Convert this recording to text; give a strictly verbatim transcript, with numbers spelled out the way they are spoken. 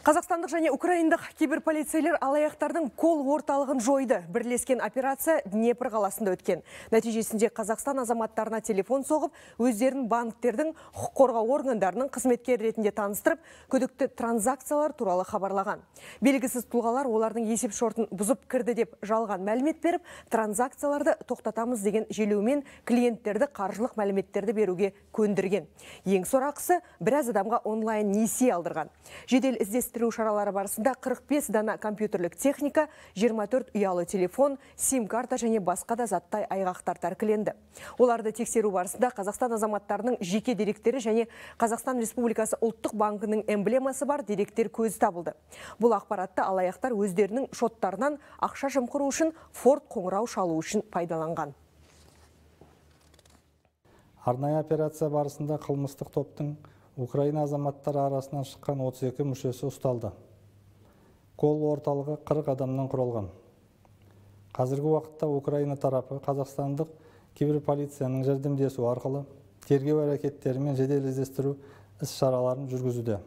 Қазақстандық және украиндық киберполицейлер алаяқтардың кол орталығын жойды. Бірлескен операция Днепр қаласында өткен. Нәтижесінде Қазақстан азаматтарына телефон соғып, өздерін банктердің құқық қорғау органдарының қызметкер ретінде таныстырып, күдікті транзакциялар туралы хабарлаған. Белгісіз тұлғалар олардың есеп шортын бұзып кірді деп жалған мәлімет беріп, транзакцияларды тоқтатамыз деген желеумен клиенттерді қаржылық мәліметтерді беруге көндірген. Ең сорақысы біраз адамға онлайн несие алдырған. Жедел іздестіру шаралары барысында қырық бес дана компьютерлік техника, жиырма төрт ұялы телефон, сим-карта және басқа да заттай айғақтар тәркіленді. Оларды тексеру барысында Қазақстан азаматтарының жеке деректері және Қазақстан Республикасы ұлттық банкінің эмблемасы бар деректер көзі табылды. Бұл ақпаратты алаяқтар өздерінің шоттарынан ақша жымқыру үшін Форд қоңырау шалу үшін пайдаланған. Арнайы операция барысында қылмыстық топтың Украина азаматтары арасынан шыққан отыз екі мүшесі ұсталды. Кол орталығы қырық адамнан құралған. Қазіргі уақытта Украина тарапы қазақстандық киберполицияның жәрдемдесуі арқылы тергеу әрекеттері мен жедел іздестіру іс-шараларын жүргізуде.